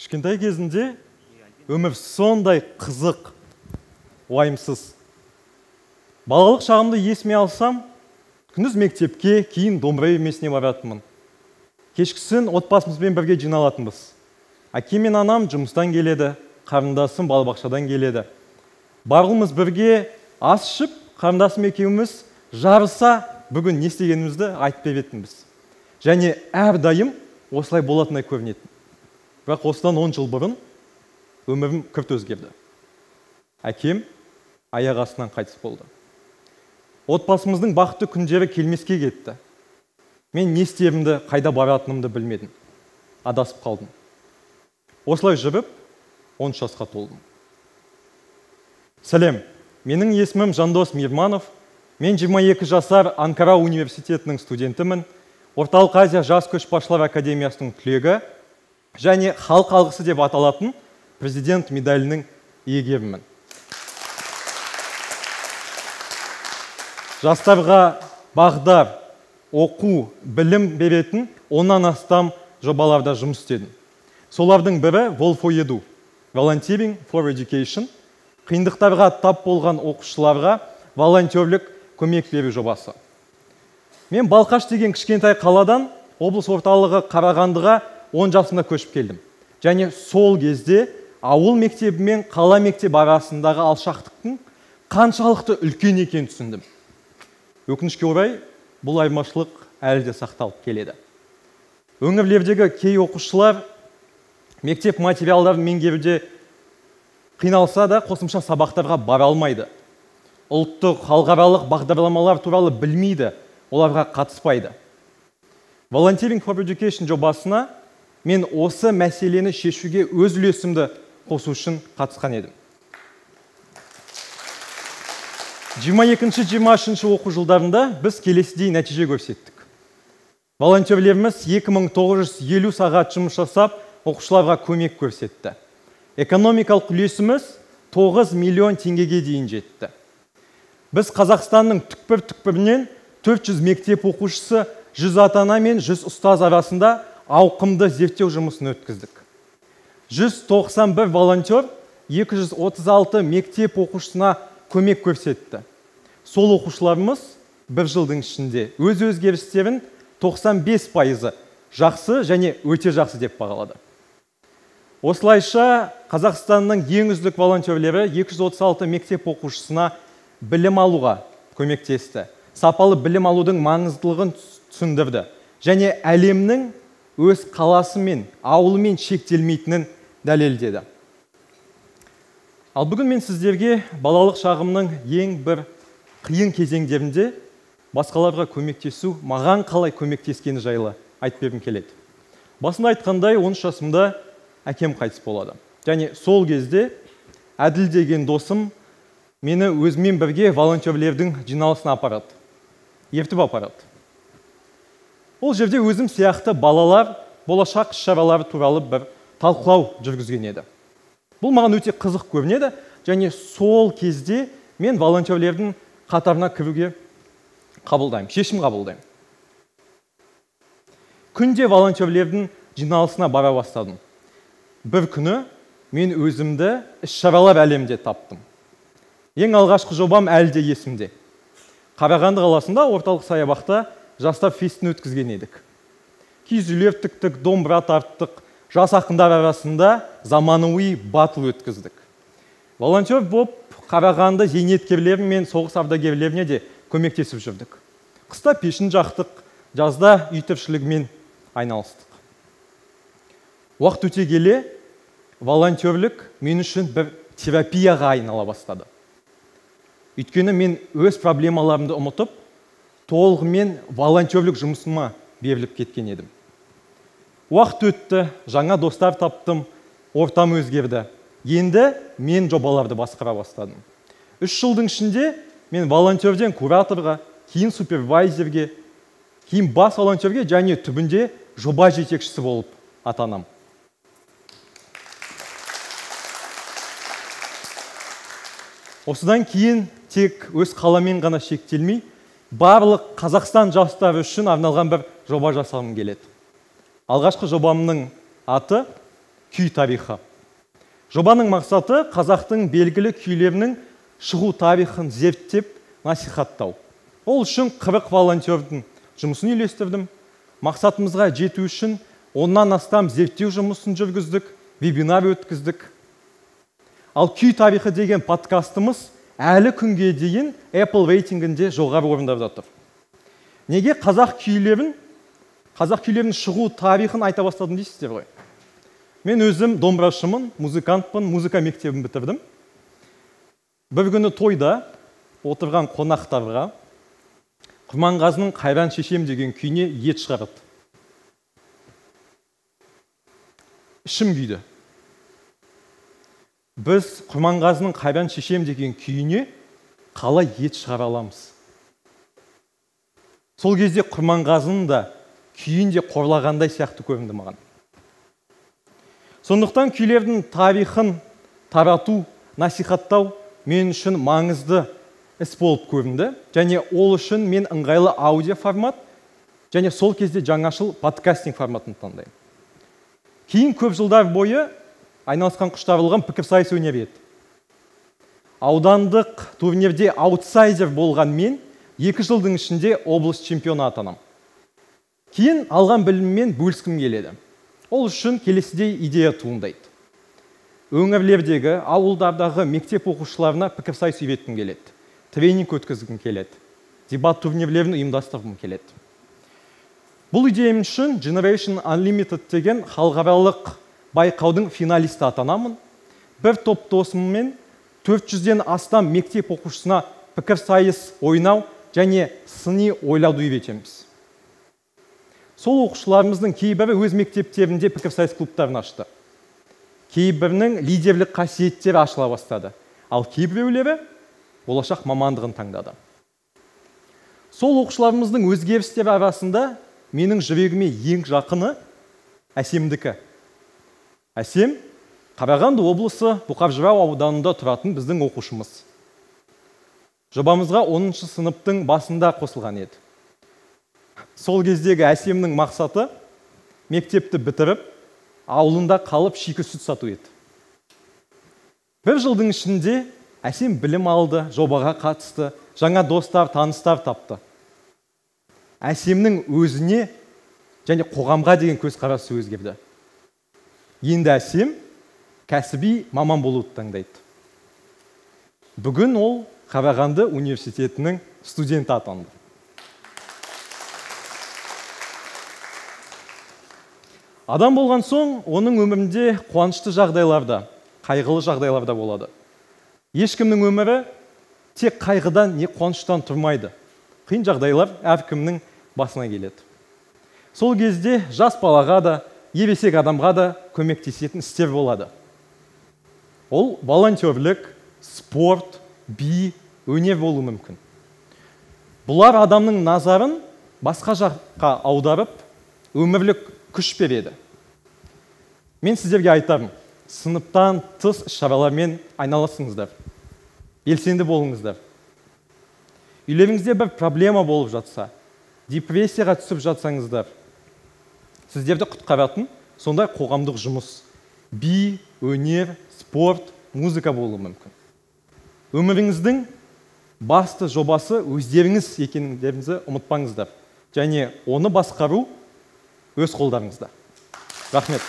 Кішкентай кезінде өмір сондай қызық, уайымсыз. Балалық шағымды есіме алсам, күндіз мектепке, кейін домбыра үйірмесіне баратынмын. Кешкісін отбасымызбен бірге жиналатынбыз. Әкем мен анам жұмыстан келеді, қарындасым балабақшадан келеді. Барлығымыз бірге ас ішіп, қарындасым екеуміз жарыса бүгін не істегенімізді айтып беретінбіз. Және әрдайым осылай болатындай көрінетін. Бірақ осыдан 10 жыл бұрын өмірім күрт өзгерді. Әкем аяқ астынан қайтыс болды. Отбасымыздың бақытты күндері келмеске кетті. Мен не істерімді, қайда баратынымды білмедім. Адасып қалдым. Осылай жүріп, 10 жасқа толдым. Сәлем, менің есімім Жандос Мирманов. Мен 22 жасар Анкара университетінің студентімін. Орталық Азия жас көшбасшылар академиясының түлегі және халық алғысы деп аталатын президент медалінің иегерімін. Жастарға бағдар, оқу, білім беретін 10-нан астам жобаларда жұмыс істедім. Солардың бірі Wall for Edu, Volunteering for Education, қиындықтарға тап болған оқушыларға волонтерлік көмек беру жобасы. Мен Балқаш деген кішкентай қаладан облыс орталығы Қарағандыға 10 жасымда көшіп келдім. Және сол кезде ауыл мектебі мен қала мектебі арасындағы алшақтықтың қаншалықты үлкен екенін түсіндім. Өкінішке орай, бұл айырмашылық әлі де сақталып келеді. Өңірлердегі кей оқушылар мектеп материалдарын меңгеруде қиналса да қосымша сабақтарға бара алмайды. Ұлттық, халықаралық бағдарламалар туралы білмейді, оларға қатыспайды. Volunteering for Education жобасына мен осы мәселені шешуге өз үлесімді қосу үшін қатысқан едім. 22-23 оқу жылдарында біз келесідей нәтиже көрсеттік. Волонтерлеріміз 2950 сағат жұмыс жасап, оқушыларға көмек көрсетті. Экономикалық үлесіміз 9 миллион теңгеге дейін жетті. Біз Қазақстанның түкпір-түкпірінен 400 мектеп оқушысы, 100 ата-ана мен 100 ұстаз арасында ауқымды зерттеу жұмысын өткіздік. 191 волонтер 236 мектеп оқушысына көмек көрсетті. Сол оқушыларымыз бір жылдың ішінде өз өзгерістерін 95% жақсы және өте жақсы деп бағалады. Осылайша Қазақстанның ең үздік волонтерлері 236 мектеп оқушысына білім алуға көмектесті. Сапалы білім алудың маңыздылығын түсіндірді. Және әлемнің өз қаласы мен ауылымен шектелмейтінін дәлелдеді. Ал бүгін мен сіздерге балалық шағымның ең бір қиын кезеңдерінде басқаларға көмектесу, маған қалай көмектескені жайлы айтып бергім келеді. Басында айтқандай 13 жасымда әкем қайтыс болады. Және сол кезде Әділ деген досым мені өзімен бірге волонтерлердің жиналысына апарады. Ертіп апарады. Ол жерде өзім сияқты балалар болашақ шаралары туралы бір талқылау жүргізген еді. Бұл маған өте қызық көрінеді, және сол кезде мен волонтерлердің қатарына кіруге шешім қабылдаймын. Күнде волонтерлердің жиналысына бара бастадым. Бір күні мен өзімді іс-шаралар әлемінде таптым. Ең алғашқы жобам әлі де есімде. Қарағанды қаласында орталық саябақта жастар фестін өткізген едік. Киіз үйлер тіктік, домбыра тарттық, жас ақындар арасында заманауи батыл өткіздік. Волонтер боп Қарағанды зейнеткерлері мен соғыс ардагерлеріне де көмектесіп жүрдік. Қыста пешін жақтық, жазда үй тіршілігімен айналыстық. Уақыт өте келе, волонтерлік мен үшін бір терапияға айнала бастады. Өйткені мен өз проблемаларымды ұмытып, толығымен волонтерлік жұмысыма беріліп кеткен едім. Уақыт өтті, жаңа достар таптым, ортам өзгерді. Енді мен жобаларды басқара бастадым. 3 жылдың ішінде мен волонтерден кураторға, кейін супервайзерге, кейін бас волонтерге және түбінде жоба жетекшісі болып атанам. Осыдан кейін тек өз қаламен ғана шектелмей, барлық Қазақстан жастары үшін арналған бір жоба жасағым келеді. Алғашқы жобамның аты күй тарихы. Жобаның мақсаты қазақтың белгілі күйлерінің шығу тарихын зерттеп насихаттау. Ол үшін 40 волонтердің жұмысын үйлестірдім. Мақсатымызға жету үшін оннан астам зерттеу жұмысын жүргіздік, вебинар өткіздік. Ал күй тарихы деген подкастымыз әлі күнге дейін Apple рейтингінде жоғары орында жатыр. Неге қазақ күйлерінің шығу тарихын айта бастадым дейсіздер ғой? Мен өзім домбырашымын, музыкантпын, музыка мектебін бітірдім. Бір күні тойда отырған қонақтарға Құрманғазының «Қайран шешем» деген күйіне ет шығарады. Ішім күйді. Біз Құрманғазының «Қайран шешем» деген күйіне қалай ет шығара аламыз? Сол кезде Құрманғазының да күйін де қорлағандай сияқты көрінді маған. Сондықтан күйлердің тарихын тарату, насихаттау мен үшін маңызды іс болып көрінді. Және ол үшін мен ыңғайлы аудио формат және сол кезде жаңашыл подкастинг форматын таңдаймын. Кейін көп жылдар бойы айналысқан құштарлығым пікірсайыс өнері еді. Аудандық турнирде аутсайдер болған мен 2 жылдың ішінде облыс чемпионы атанам. Кейін алған біліммен бөліскім келеді. Ол үшін келесідей идея туындайды. Өңірлердегі, ауылдардағы мектеп оқушыларына пікірсайыс үйреткім келеді. Тренинг өткізгім келеді. Дебат турнирлерін ұйымдастырғым келеді. Бұл идеям үшін Generation Unlimited деген халықаралық байқаудың финалисті атанамын. Бір топ досыммен 400-ден астам мектеп оқушысына пікірсайыс ойнау және сыни ойлауды үйретеміз. Сол оқушыларымыздың кейбірі өз мектептерінде пікірсайыс клубтарын ашты. Кейбірінің лидерлік қасиеттері ашыла бастады. Ал кейбіреулері болашақ мамандығын таңдады. Сол оқушыларымыздың өзгерістері арасында менің жүрегіме ең жақыны Әсемдікі. Әсем Қарағанды облысы Бұқар-Жырау ауданында тұратын біздің оқушымыз. Жобамызға 10-шы сыныптың басында қосылған еді. Сол кездегі Әсемнің мақсаты мектепті бітіріп, ауылында қалып шикі сүт сату еді. Бір жылдың ішінде Әсем білім алды, жобаға қатысты, жаңа достар, таныстар тапты. Әсемнің өзіне және қоғамға деген көзқарасы өзгерді. Енді Әсем кәсіби маман болуды таңдайды. Бүгін ол Қарағанды университетінің студенті атанды. Адам болған соң, оның өмірінде қуанышты жағдайларда, қайғылы жағдайларда болады. Ешкімнің өмірі тек қайғыдан не қуаныштан тұрмайды. Қиын жағдайлар әркімнің басына келеді. Сол кезде жас балаға да, ересек адамға да көмектесетін істер болады. Ол волонтерлік, спорт, би, өнер болуы мүмкін. Бұлар адамның назарын басқа жаққа аударып, өмірлік күш береді. Мен сіздерге айтарым, сыныптан тыс шаралармен айналысыңыздар. Белсенді болыңыздар. Үйлеріңізде бір проблема болып жатса, депрессияға түсіп жатсаңыздар, сіздерді құтқаратын сондай қоғамдық жұмыс, би, өнер, спорт, музыка болуы мүмкін. Өміріңіздің басты жобасы өздеріңіз екендеріңізді ұмытпаңыздар. Және оны басқару өз қолдарыңызда. Рахмет.